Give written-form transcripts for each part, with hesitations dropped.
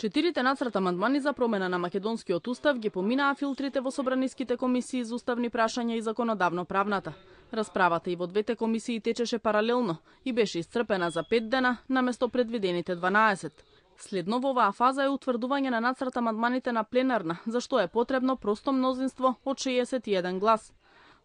Четирите нацрт амандмани за промена на македонскиот устав ги поминаа филтрите во собраниските комисии за уставни прашања и законодавно-правната. Расправата и во двете комисии течеше паралелно и беше исцрпена за 5 дена наместо предвидените 12. Следно во оваа фаза е утврдување на нацрт амандманите на пленарна, за што е потребно просто мнозинство од 61 глас.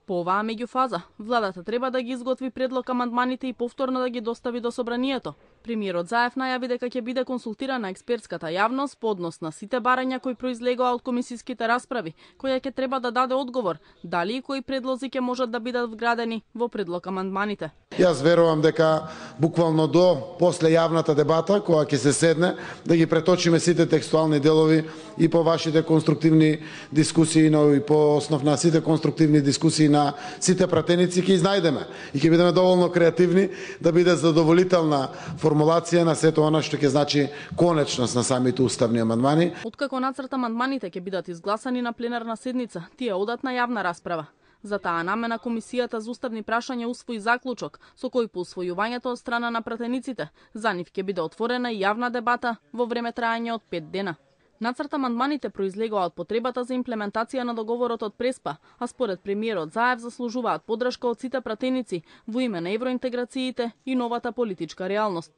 По оваа меѓуфаза, владата треба да ги изготви предлог амандманите и повторно да ги достави до собранието. Премиерот Заев најави дека ќе биде консултирана експертската јавност по однос на сите барања кои произлегоа од комисиските расправи, која ќе треба да даде одговор дали и кои предлози ќе можат да бидат вградени во предлог амандманите. Јас верувам дека буквално до после јавната дебата, која ќе се седне, да ги преточиме сите текстуални делови и по вашите конструктивни дискусии, но и по основ на сите конструктивни дискусии на сите пратеници ќе изнајдеме и ќе бидеме доволно креативни да биде задоволителна формулација на сето она што ќе значи конечност на самите уставни амандмани. Откако нацрт амандманите ќе бидат изгласани на пленарна седница, тие одат на јавна расправа. За таа намена Комисијата за уставни прашања усвои заклучок со кој по усвојувањето од страна на пратениците за нив ќе биде отворена и јавна дебата во време трајање од 5 дена. Нацрт амандманите произлегоа од потребата за имплементација на договорот од Преспа, а според премиерот Заев заслужуваат поддршка од сите пратеници во име на евроинтеграциите и новата политичка реалност.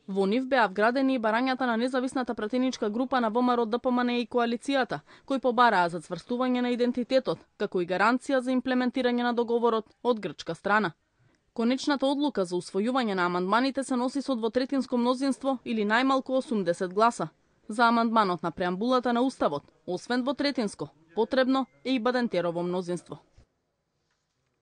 Во нив беа вградени и барањата на независната пратеничка група на ВМРО ДПМН и коалицијата, кои побараа за цврстување на идентитетот, како и гаранција за имплементирање на договорот од грчка страна. Конечната одлука за усвојување на амандманите се носи со двотретинско мнозинство или најмалку 80 гласа. За амандманот на преамбулата на Уставот, освен двотретинско, потребно е и Бадентерово мнозинство.